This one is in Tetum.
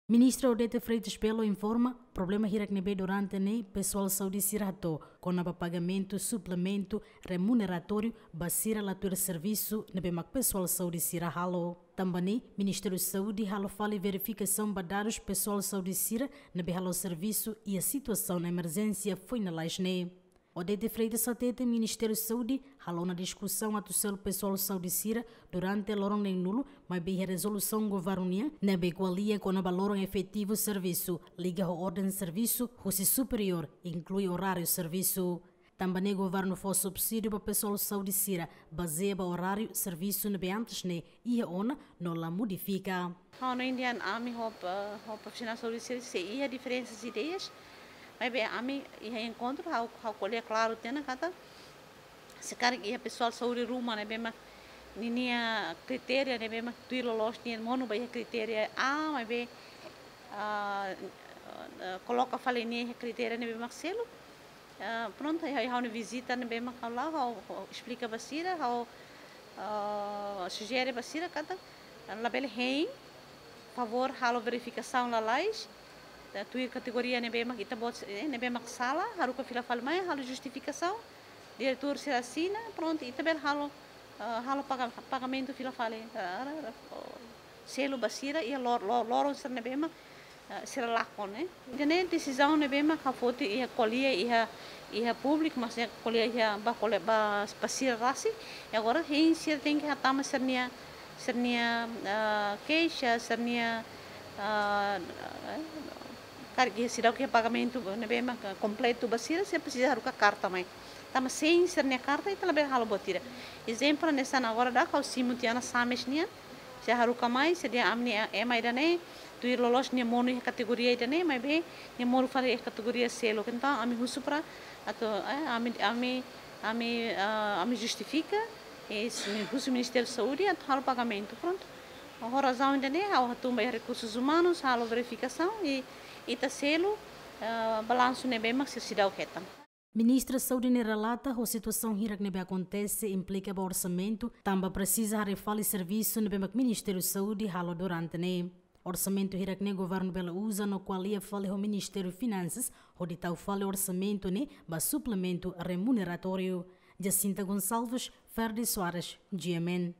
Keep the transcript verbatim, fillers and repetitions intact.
Ministra Odete Freitas Belo informa problema hirak ne'ebé durante ne'e pesoál saúde sira hato'o kona-ba pagamentu suplementu remuneratóriu ba sira la tuir servisu ne'ebé mak pesoál saúde sira halo. Tanba ne'e, Ministériu Saúde halo fali verifikasaun ba dadus pesoál saúde sira ne'ebé halo servisu iha situasaun emerjénsia foin lalais ne'e. Odete Freitas hateten Ministériu Saúde halo ona diskusaun atu selu pesoál saúde sira durante loron neen-nulu, maibé iha rezolusaun governu nian ne'ebé ko'alia kona-ba loron efetivu servisu liga ho orden servisu husi superiór, inklui oráriu servisu. Tanba ne'e governu fó subsídiu ba pesoál saúde sira bazeia ba oráriu servisu ne'ebé antes ne'e iha ona no la modifika. Ha'u hanoin dehan ami ho, eh, ho profisionál saúde sira sei iha diferensas ideias, maibé ami iha enkontru, ha'u, ha'u ko'alia klaru tiha ona katak se karik iha pesoál saúde ruma ne'ebé mak ninia kritéria ne'ebé mak tuir loloos nia monu ba iha kritéria A, maibé, ah, eh, koloka fali nia iha kritéria ne'ebé mak selu. Ah, prontu, ha'u, ha'u-nia vizita ne'ebé mak ha'u la'o, ha'u, ha'u esplika ba sira, ha'u, ah, sujere ba sira katak labele hein, favór halo verifikasaun lalais, eh, tuir kategoria ne'ebé mak ita-boot, eh, ne'ebé mak sala, haruka fila fali mai, halo justifikasaun, diretór sira asina, prontu, ita bele halo, eh, halo paga-, pagamentu fila fali, eh, selu ba sira, iha lor-, lor-, loron sira ne'ebé mak, eh, sira lakon, eh. Ida-ne'e desizaun ne'ebé mak ha'u foti iha ko'alia iha, iha públiku, mas iha ko'alia iha ba ko'alia ba, ba sira rasik. I agora hein sira tenke hatama sira-nia, sira-nia, ah, keixa, sira-nia, ah, eh, karik iha seidauk iha pagamentu ne'ebé mak kompletu ba sira, sira presiza haruka karta mai. Tanba sein sira-nia karta ita labele halo buat ida. Ezemplu hanesan agora daudaun ha'u simu tiha ona SAMES nian, sira haruka mai, sira dehan ami-nia ema ida-ne'e, tuir loloos nia monu iha kategoria ida-ne'e, maibé nia monu fali iha kategoria seluk. Entaun ami husu para atu, eh, ami, ami, ami, ah, ami justifika, eh, s-, husu Ministériu Saúde atu halo pagamentu, prontu. Ho razaun ida-ne'e, ha'u hatún ba iha rekursus umanus, halo verifikasaun i ita selu, eh, balansu ne'ebé mak sira seidauk hetan. Ministra Saúde ne'e relata ho situasaun hirak ne'ebé akontese implika ba orsamentu, tanba presiza haree fali servisu ne'ebé mak Ministériu Saúde halo durante ne'e. Orsamentu hirak ne'e governu bele uza no ko'alia fali ho Ministériu Finansas, hodi tau fali orsamentu ne'e ba suplementu remuneratóriu. Jacinta Gonçalves, Ferdi Soares, G M N.